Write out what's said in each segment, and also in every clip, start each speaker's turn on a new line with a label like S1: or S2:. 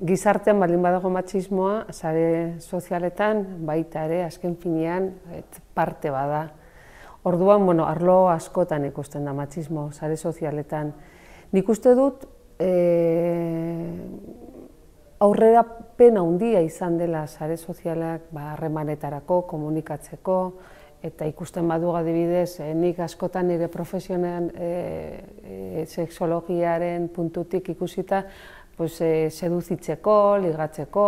S1: Gizartean baldin badago matxismoa, sare sozialetan baita ere, azken finean, parte bada. Orduan, arlo askotan ikusten da matxismo, sare sozialetan. Nik uste dut, aurrerapen handia izan dela sare sozialak harremanetarako, komunikatzeko, eta ikusten badu adibidez, nik askotan nire profesionean sexologiaren puntutik ikusita, seduzitzeko, ligatzeko,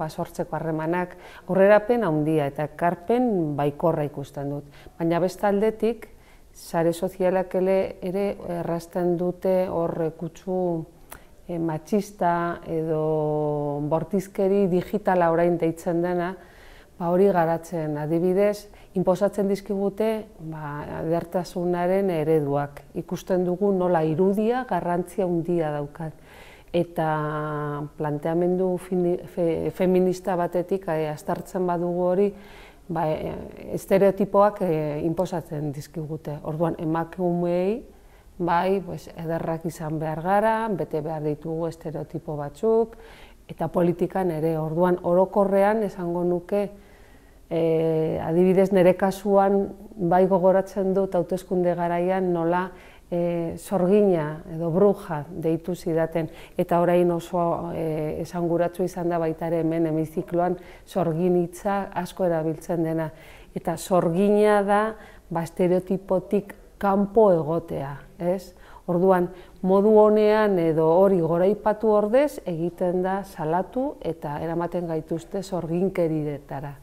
S1: sortzeko harremanak, aurrerapen handia eta ekarpen baikorra ikusten dut. Baina beste aldetik, sare sozialak ere errazten dute hor kutsu matxista edo bortizkeri digitala orain deitzen dena, hori garatzen adibidez, inposatzen dizkigute edertasunaren ereduak. Ikusten dugu nola irudia garrantzia handia daukat. Eta planteamendu feminista batetik aztertzen badugu hori, estereotipoak inposatzen dizkigute. Orduan, emakumeei, ederrak izan behar gara, bete behar ditugu estereotipo batzuk, eta politikan ere. Orduan, orokorrean esango nuke, adibidez nire kasuan bai gogoratzen dut hauteskunde garaian nola sorgina edo bruja deitu zidaten, eta orain oso esanguratsu izan da baita ere hemen hemizikloan sorgin hitza asko erabiltzen dena. Eta sorgina da estereotipotik kanpo egotea, ez? Orduan, modu honean edo hori goraipatu ordez egiten da salatu eta eramaten gaituzte sorginkerietara.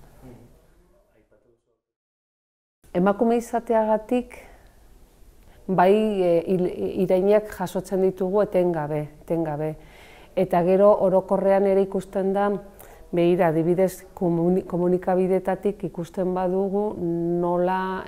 S1: Emakume izateagatik, bai irainak jasotzen ditugu etengabe. Eta gero orokorrean ere ikusten da, behira, adibidez komunikabidetatik ikusten badugu nola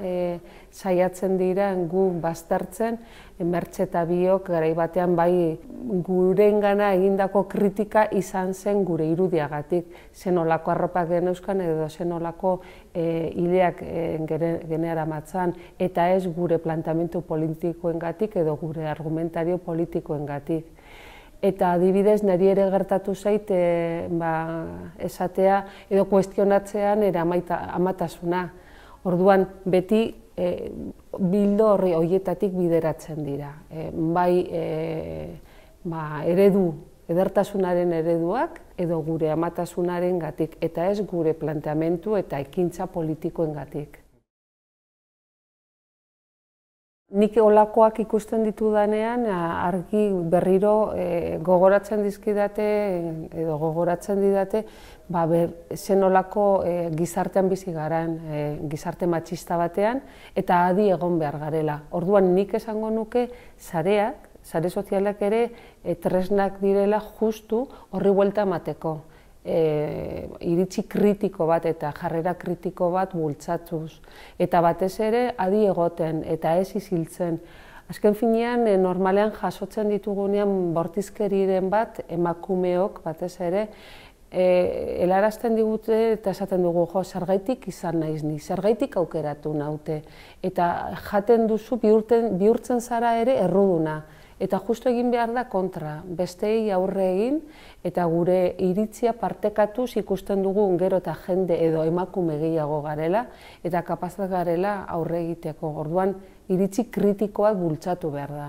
S1: saiatzen dira gu baztertzen, Mertxe eta biok garai batean bai gurengana egindako kritika izan zen gure irudiagatik, zenolako arropak geneuzkan edo zenolako hileak generamatzan, eta ez gure planteamendu politikoengatik edo gure argumentario politikoengatik. Eta adibidez, niri ere gertatu zait esatea edo kuestionatzean amatasuna. Orduan, beti bildo horri horietatik bideratzen dira. Bai edertasunaren ereduak edo gure amatasunaren gatik, eta ez gure planteamendu eta ekintza politikoen gatik. Nik olakoak ikusten ditudanean, argi berriro gogoratzen dizkidate edo gogoratzen didate zenolako gizartean bizi garen, gizarte matxista batean, eta adi egon behar garela. Orduan nik esango nuke sareak, sare sozialak ere tresnak direla justu horri buelta emateko. Iritzi kritiko bat eta jarrera kritiko bat bultzatuz. Eta batez ere adi egoten eta ez isiltzen. Azken finean, normalean jasotzen ditugunean bortizkeriren bat emakumeok batez ere helarazten digute eta esaten dugu, zergaitik izan naiz ni, zergaitik aukeratu naute. Eta jaten duzu bihurtzen zara ere erruduna. Eta justu egin behar da kontra, besteei aurre egin, eta gure iritzia partekatuz ikusten dugu gero eta jende edo emakume gehiago garela, eta kapazak garela aurre egiteko. Orduan, iritzi kritikoak bultzatu behar da.